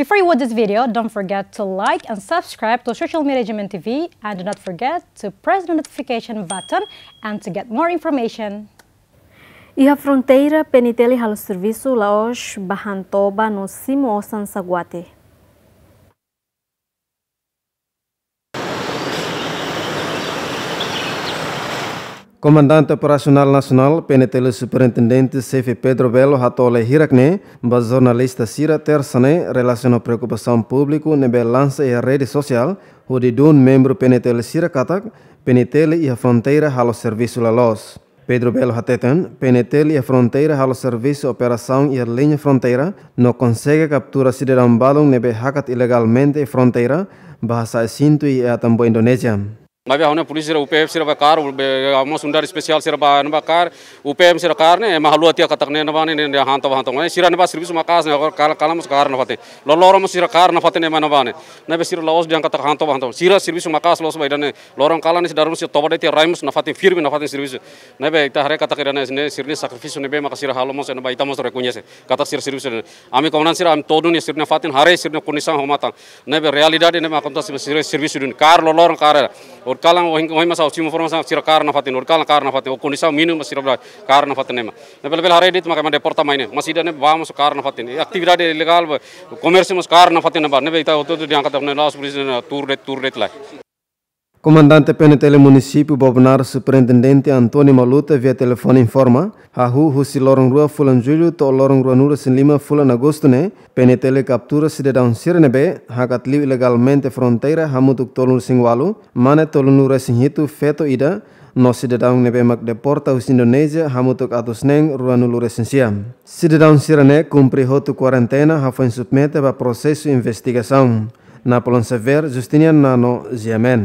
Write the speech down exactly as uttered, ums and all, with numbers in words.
Before you watch this video, don't forget to like and subscribe to Social Media G M N T V, and do not forget to press the notification button and to get more information. Iha fronteira, P N T L halo servisu la'ós ba han toba no simu osan saguati. Komandante Operasionál Nasionál, P N T L, Superintendente Xefe Pedro Belo hato'o lee hirak ne'e ba jornalista sira tersa ne'e relasiona preokupasaun públiku ne'ebé lansa iha rede sosiál, hodi dún membru P N T L sira katak P N T L iha fronteira halo servisu la loos. Pedro Belo hateten, P N T L iha fronteira halo servisu operasaun iha liña fronteira, no konsege kaptura sidadaun balun ne'ebé hakat ilegalmente iha fronteira, ba hasa'e sintu iha atan ba Indonézia. Maibé ha'u hanoin polísia sira, U P F sira ba kaer, be, mós unidade espesiál sira ba, ne'ebá kaer, U P M sira kaer ne'e, ema haluha tiha katak ne'e, ne'ebá ne'e, ne'e, ne'e han toba, han toba. Ne'e sira ne'ebá servisu maka'as ne'e, agora kalan, kalan mós kaer nafatin. Loroloron mós sira kaer nafatin ne'e, ema ne'ebá ne'e. Ne'ebé sira la'ós dehan katak han toba, han toba. Sira servisu maka'as loos ba ida-ne'e. Loron kalan ne'e sira daruman sira toba de'it iha rai mós nafatin firme nafatin servisu. Ne'ebé ita haree katak ida-ne'e, ne'e sira-nia sakrifísiu ne'ebé maka sira halo mós ne'ebá ita mós rekoñese katak sira servisu ne'e. Ami komandan sira, ami to'o duni sira-nia fatin, haree sira-nia kondisaun ho matan. Ne'ebé realidade ne'e maka akontese sira servisu duni. Kaer loroloron kaer. Horikalan ohin, ohin mós ha'u simu informasaun sira kaer nafatin, horikalan kaer nafatin. Ho kondisaun mínimu sira bele kaer nafatin ne'e mak. Ne'ebé bele haree de'it maka ema deporta mai ne'e. Mas ida-ne'e ba mós kaer nafatin. Atividade ilegál ba, komérsiu mós kaer nafatin ne'ebá. Ne'ebé ita hotu-hotu dehan katak ne'e la'ós polísia ne'e tuur de'it, tuur de'it lai. Komandante P N T L Munisípiu Bobonaro, Superintendente António Maluta, via telefone informa, hahú husi loron rua fulan Jullu to'o loron ruanulu-resin-lima fulan Agostu ne'e, P N T L kaptura sidadaun sira ne'ebé hakat liu ilegalmente fronteira hamutuk tolunulu-resin-ualu, mane tolunulu-resin-hitu, feto ida, no sidadaun ne'ebé mak deporta husi Indonézia hamutuk atus neen ruanulu-resin-sia. Sidadaun sira-ne'e kumpre hotu kuarentena hafoin submete ba prosesu investigasaun. Napoleon Xavier, Justiniano Nano, G M N.